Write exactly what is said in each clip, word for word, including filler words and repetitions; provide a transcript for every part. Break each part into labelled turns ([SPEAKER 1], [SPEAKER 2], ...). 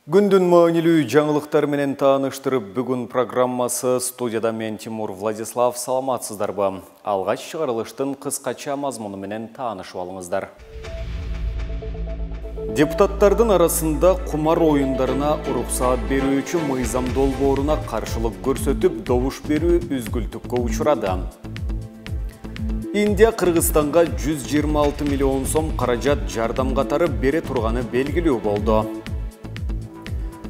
[SPEAKER 1] Күндүн маанилүү жаңылыктар менен тааныштырып, бүгүн программасы студияда мен Тимур Владислав. Саламатсыздарбы? Алгач чыгарылыштын кыскача мазмуну менен таанышып алыңыздар. Депутаттардын арасында кумар оюндарына уруксаат берүүчү мыйзам долбооруна каршылык көрсөтүп, добуш берүү үзгүлтүккө учурады. Индия Кыргызстанга жүз жыйырма алты миллион сом каражат жардам катары бере турганы белгилүү болду.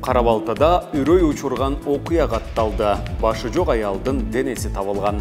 [SPEAKER 1] Кара-Балтада үрөй учурган окуя катталды. Башы жок аялдын денеси табылган.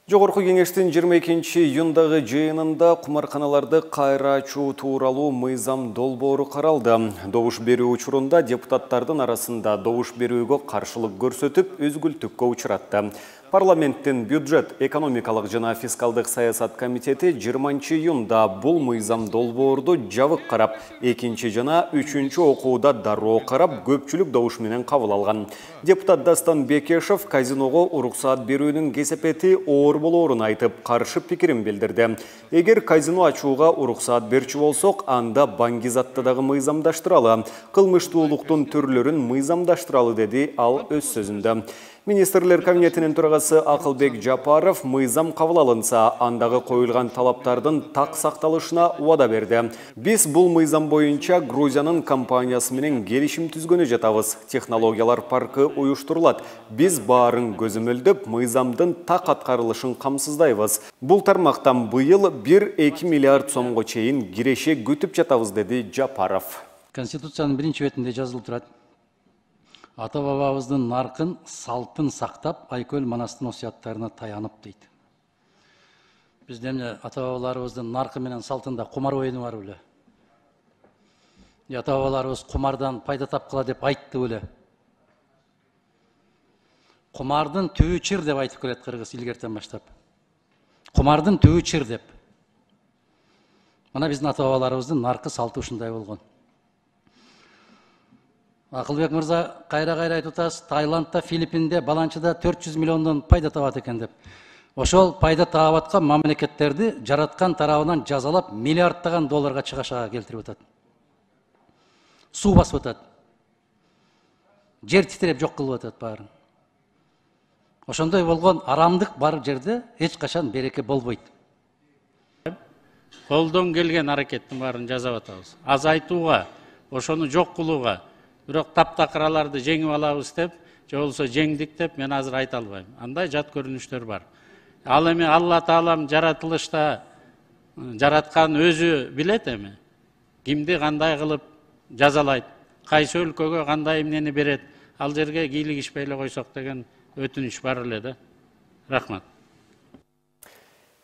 [SPEAKER 1] Жогорку кеңештин жыйырма экинчи июндагы жыйынында кумарканаларды кайра ачуу тууралуу мыйзам долбоору каралды. Добуш берүү учурунда депутаттардын арасында добуш берүүгө каршылык көрсөтүп, үзгүлтүккө учуратты. Парламенттин бюджет, экономикалык жана фискалдык саясат комитети жыйырманчы июнда бул мыйзам долбоорду жабык карап, экинчи жана үчүнчү окууда дароо карап, көпчүлүк добуш менен кабыл алган. Депутат Дастан Бекешев казиного уруксаат берүүнүн кесепети оор болоорун айтып, каршы пикирин билдирди. Эгер казино ачууга уруксаат берчү болсок, анда баңгизатты дагы мыйзамдаштыралы, кылмыштуулуктун түрлөрүн мыйзамдаштыралы, деди ал өз сөзүндө. Министрлер кабинетинин төрагасы Акылбек Жапаров мыйзам кабыл алынса, андагы коюлган талаптардын так сакталышына убада берди. Биз бул мыйзам боюнча Грузиянын компаниясы менен келишим түзгөнү жатабыз. Технологиялар паркы уюштурулат. Биз баарын көзөмөлдөп, мыйзамдын так аткарылышын камсыздайбыз. Бул тармактан быйыл бир-эки миллиард сомго чейин киреше күтүп жатабыз, деди Жапаров.
[SPEAKER 2] Конституциянын биринчи бетинде жазылып турат. Ата бабабыздын наркын, салтын сактап, Айкөл Манастын осуяттарына таянып дейт. Биздин эмне ата бабаларыбыздын наркы менен салтында кумар оюну бар беле? Ата бабаларыбыз кумардан пайда тапкыла деп айтты беле? Кумардын түбү чыр деп айтып келет кыргыз илгертен баштап. Кумардын түбү чыр деп. Мына биздин ата бабаларыбыздын наркы салты ушундай болгон. Акылбек мырза кайра-кайра айтып атасыз, Таиландда, Филиппинде, Баланчыда төрт жүз миллиондон пайда табат экен деп. Ошол пайда таап аткан мамлекеттерди жараткан тарабынан жазалап, миллиарддаган долларга чыгашага келтирип атат. Суу басып атат. Жер титиреп жок кылып атат баарын. Ошондой болгон арамдык бар жерде эч качан береке болбойт.
[SPEAKER 3] Колдон келген аракеттин баарын жасап атабыз. Азайтууга, ошону жок кылууга, бирок таптакыраларды жеңип алабыз деп, же болсо жеңдик деп мен азыр айта албайм. Андай жат көрүнүштөр бар. Ал эми Алла Таалам жаратылышта жараткан өзү билет эми. Кимди кандай кылып жазалайт, кайсы өлкөгө кандай эмнени берет, ал жерге кийлигишпей эле койсок деген өтүнүч бар эле да. Рахмат.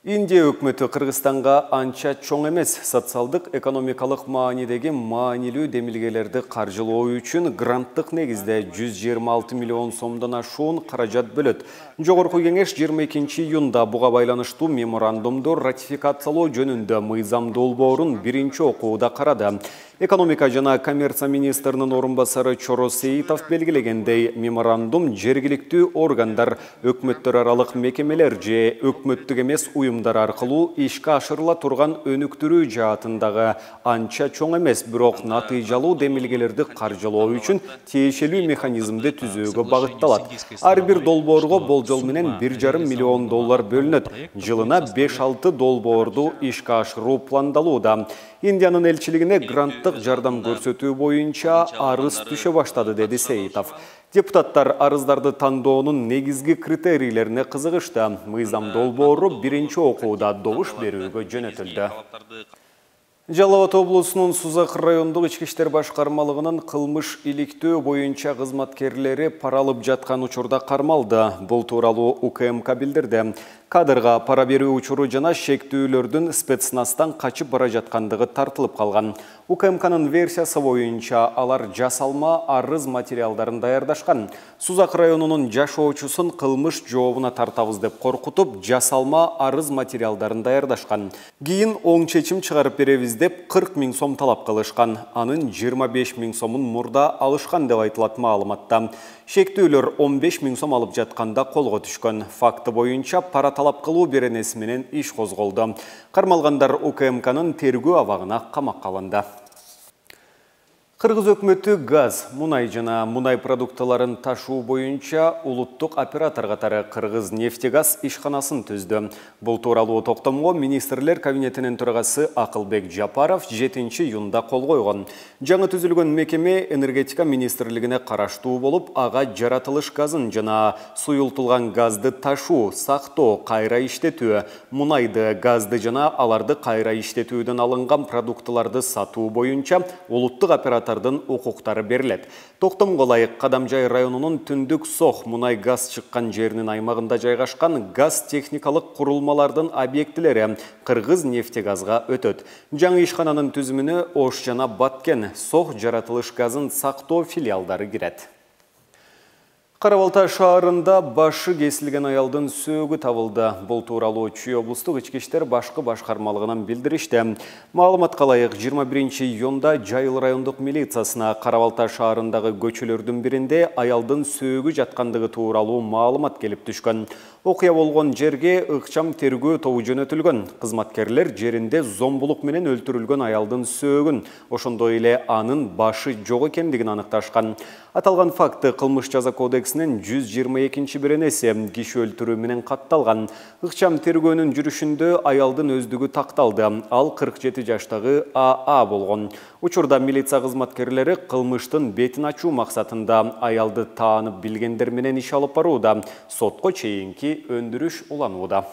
[SPEAKER 1] Индия өкмөтү Кыргызстанга анча чоң эмес социалдык экономикалык маанидеги маанилүү демилгелерди каржылоо үчүн гранттык негизде жүз жыйырма алты миллион сомдон ашуун каражат бөлөт. Жогорку кеңеш жыйырма экинчи июнда буга байланыштуу меморандумду ратификациялоо жөнүндө мыйзам долбоорун биринчи окууда карады. Экономика жана коммерция министринин орун басары Чоро Сейитов белгилегендей, меморандум жергиликтүү органдар, өкмөттөр аралык мекемелер же өкмөттүк эмес уюмдар аркылуу ишке ашырыла турган өнүктүрүү жаатындагы анча чоң эмес, бирок натыйжалуу демилгелерди каржылоо үчүн тиешелүү механизмди түзүүгө багытталат. Ар бир долбоорго болжол менен бир жарым миллион доллар бөлүнөт. Жылына беш-алты долбоорду ишке ашыруу пландалууда. Индиянын элчилигине гранттык жардам көрсөтүү боюнча арыз түшө баштады, деди Сейитов. Депутаттар арыздарды тандоонун негизги критерийлерине кызыгышты. Мыйзам долбоору биринчи окууда добуш берүүгө жөнөтүлдү. Жалал Абад облусунун Сузак райондук ички иштер башкармалыгынын кылмыш иликтөө боюнча кызматкерлери пара алып жаткан учурда кармалды. Бул тууралуу У К М К билдирди. Кадрга пара берүү учуру жана шектүүлөрдүн спецназдан качып бара жаткандыгы тартылып калган. У К М К'нын версиясы боюнча алар жасалма арыз материалдарын даярдашкан. Сузак районунун жашоочусун кылмыш жообуна тартабыз деп коркутуп, жасалма арыз материалдарын даярдашкан. Кийин оң чечим чыгарып беребиз деп кырк миң сом талап кылышкан. Анын жыйырма беш миң сомун мурда алышкан деп айтылат маалыматта. Шектүүлөр он беш миң сом алып жатканда колго түшкөн. Факты боюнча пара талап кылуу беренеси менен иш козголду. Кармалгандар У К М К'нын тергөө абагына камакка алынды. Кыргыз өкмөтү газ, мунай жана мунай продуктыларын ташуу боюнча улуттук оператор катары Кыргыз нефтегаз ишканасын түздү. Бул тууралуу токтомго министрлер кабинетинин төрагасы Акылбек Жапаров жетинчи июнда кол койгон. Жаңы түзүлгөн мекеме энергетика министрлигине караштуу болуп, ага жаратылыш газын жана суюлтулган газды ташуу, сактоо, кайра иштетүү, мунайды, газды жана аларды кайра иштетүүдөн алынган продуктыларды сатуу боюнча улуттук оператор укуктары берилет. Токтомго ылайык Кадамжай районунун түндүк Сох мунай газ чыккан жеринин аймагында жайгашкан газ техникалык курулмалардын объектилери Кыргыз нефтегазга өтөт. Жаңы ишкананын түзүмүнө Ош жана Баткен Сох жаратылыш газын сактоо филиалдары кирет. Кара Балта шаарында башы кесилген аялдын сөөгү табылды. Бул тууралуу Чүй облустук ички иштер башкы башкармалыгынан билдиришти. Маалыматка ылайык жыйырма биринчи июнда Жайыл райондук милициясына Кара Балта шаарындагы көчөлөрдүн биринде аялдын сөөгү жаткандыгы тууралуу маалымат келип түшкөн. Окуя болгон жерге ыкчам тергөө тобу жөнөтүлгөн. Кызматкерлер жеринде зомбулук менен өлтүрүлгөн аялдын сөөгүн, ошондой эле анын башы жок экендигин аныкташкан. Аталган факты кылмыш жаза кодексинин жүз жыйырма экинчи беренеси киши өлтүрүү менен катталган. Ыкчам тергөөнүн жүрүшүндө аялдын өздүгү такталды. Ал кырк жети жаштагы А А болгон. Учурда милиция кызматкерлери кылмыштын бетин ачуу максатында аялды таанып билгендер менен иш алып барууда. Сотко чейинки өндүрүш уланууда.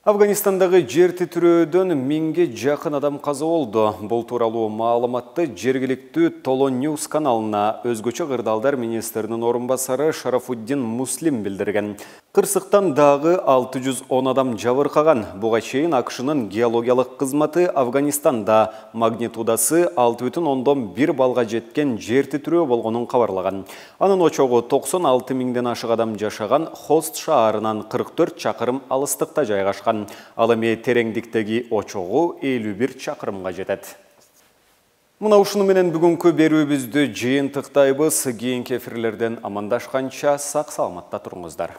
[SPEAKER 1] Афганистандагы жер титирөөдөн миңге жакын адам каза болду. Бул тууралуу маалыматты жергиликтүү Толо Ньюс каналына өзгөчө кырдаалдар министринин орун басары Шарафуддин Муслим билдирген. Кырсыктан дагы алты жүз он адам жабыркаган. Буга чейин АКШнын геологиялык кызматы Афганистанда магнитудасы алты бүтүн ондон бир балга жеткен жер титирөө болгонун кабарлаган. Анын очогу токсон алты миңден ашык адам жашаган Хост шаарынан кырк төрт чакырым алыстыкта жайгашкан. Ал эми тереңдиктеги очогу элүү бир чакырымга жетет. Мына ушуну менен бүгүнкү берүүбүздү жыйынтыктайбыз. Кийинки эфирлерден амандашканча сак саламатта туруңуздар.